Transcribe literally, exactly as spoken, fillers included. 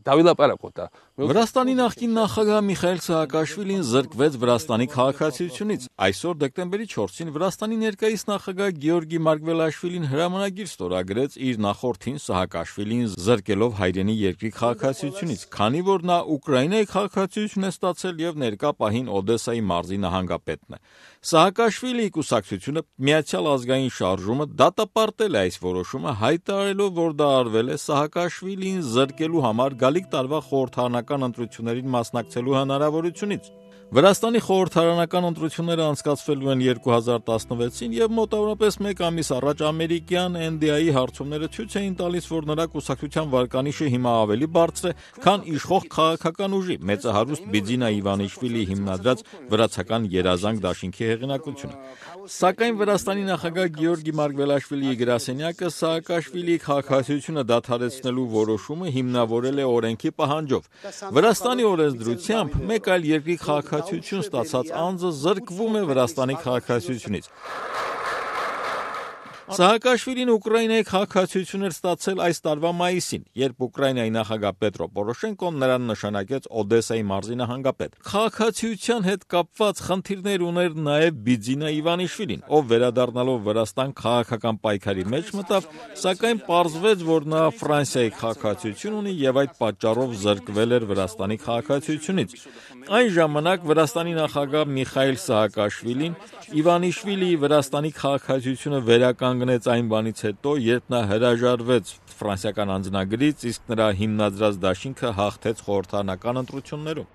Դավիլապարակոտա Վրաստանի նախկին նախագահ Միխայել Սահակաշվիլին զրկվեց Վրաստանի քաղաքացիությունից։ Այսօր դեկտեմբերի չորսին Վրաստանի ներկայիս նախագահ Գեորգի Մարգվելաշվիլին հրամանագիր ստորագրեց իր նախորդին Սահակաշվիլին զրկելով հայրենի երկրի քաղաքացիությունից, քանի որ նա Ուկրաինայի քաղաքացիություն է ստացել եւ ներկա պահին Օդեսայի մարզի նահանգապետն է։ Սահակաշվիլիի կուսակցությունը Միացյալ ազգային շարժումը դատապարտել է այս որոշումը, հայտարարելով, որ դա արվել է Սահակաշվիլին զրկելու համար գալիք տարվա խորհրդարանական ընտրություններին մասնակցելու հնարավորությունից։ Վրաստանի խորհրդարանական ընտրությունները անցկացվելու են երկու հազար տասնվեցին եւ մոտավորապես մեկ ամիս առաջ ամերիկյան N D I-ի հարցումները ցույց էին տալիս, որ նրա կուսակցության վարկանիշը հիմա ավելի բարձր է, քան իշխող քաղաքական ուժի մեծահարուստ Բիձինա Իվանիշվիլիի հիմնադրած վրացական երազանք դաշինքի հեղինակությունը։ Սակայն Վրաստանի նախագահ Գեորգի Մարգվելաշվիլիի գրասենյակը Սահակաշվիլիի քաղաքացիությունը դադարեցնելու որոշումը հիմնավորել է օրենքի պահանջով։ Վրաստանի օրենսդրությամբ մեկ այլ երկրի քաղաքացիություն ստացած անձը զրկվում է Վրաստանի քաղաքացիությունից։ Սահակաշվիլին Ուկրաինայի քաղաքացիություն էր ստացել այս տարվա մայիսին, երբ Ուկրաինայի նախագահ Պետրո Պորոշենկոն նրան նշանակեց Օդեսայի մարզի նահանգապետ։ Քաղաքացիության հետ կապված խնդիրներ ուներ նաև Բիձինա Իվանիշվիլին, ով վերադառնալով Վրաստան քաղաքական պայքարի մեջ մտավ, սակայն պարզվեց, որ նա Ֆրանսիայի քաղաքացիություն ունի եւ այդ պատճառով զրկվել էր Վրաստանի քաղաքացիությունից։ Այն ժամանակ Վրաստանի նախագահ Միխայել Սահակաշվիլին Իվանիշվիլիի Վրաստանի քաղաքացիությունը վերականգնեց այն բանից հետո, երբ նա հրաժարվեց ֆրանսիական անձնագրից, իսկ նրա հիմնադրած դաշինքը հաղթեց խորհրդարանական ընտրություններում։